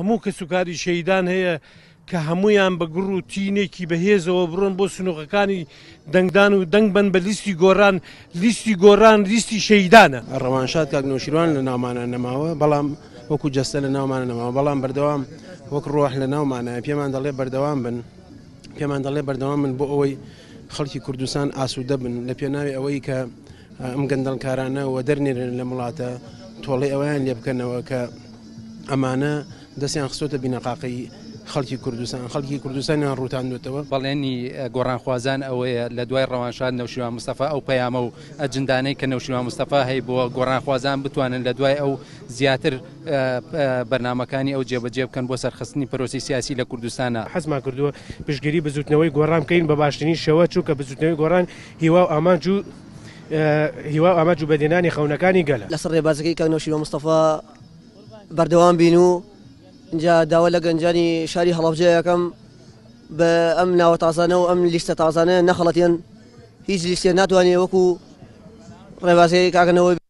هەموو کەسوکاری شەهیدان هەیە کە هەموویان بە گوڕ و تینێکی بەهێزەوە بڕۆن بۆ سنوقەکانی دەنگدان و دەنگ بەن بە لیستی گۆڕان، لیستی گۆڕان لیستی شەهیدانە. ڕەوانشاد کاک نەوشیروان لە ناومانا نەماوە، بەڵام وەکو جەستە لە ناومانا نەماوە، بەڵام بەردەوام وەک ڕۆح لە ناومانایە، پێمان دەڵێ بەردەوام بن، پێمان دەڵێ بەردەوام بن بۆ ئەوەی خەڵکی کوردستان ئاسوودە بن، لە پێناوی ئەوەی کە ئەم گەندەڵکارانە وەدەرنێرن لەم وڵاتە، تۆڵەی ئەوەیان لێ بکەنەوە کە ئەمانە دەستیان خستۆتە بینەقاقەی خەڵکی کوردستان، خەڵکی کوردستانیان ڕووتاندۆتەوە. بەڵێنی گۆڕانخوازان ئەوەیە لە دوای ڕەوانشاد نەوشیروان مستەفا ئەو پەیامە و ئەجندانەی کە نەوشیروان مستەفا هەیبووە گۆڕانخوازان بتوانن لە دوای ئەو زیاتر بەرنامەکانی ئەو جێبەجێ بکەن بۆ سەرخستنی پرۆسەی سیاسی لە کوردستانا. حەزمان کردووە پشتگیری بزووتنەوەی گۆڕان بکەین بە باشترین شێوە، چونکە بزووتنەوەی گۆڕان هیوا و ئامانج و هیوا و ئامانج و بەدیهێنانی خەونەکانی گەلە. لەسەر ڕێبازەکەی کاک نەوشیروان مستەفا بەردەوام بین و ئینجا داوا لە گەنجانی شاری هەڵەبجە ئەکەم بە ئەم ناوە تازانە و ئەم لیستە تازانە نەخەڵەتێن، هیچ لیستێک ناتوانێ وەکو ڕێبازەکەی کاک نەوە.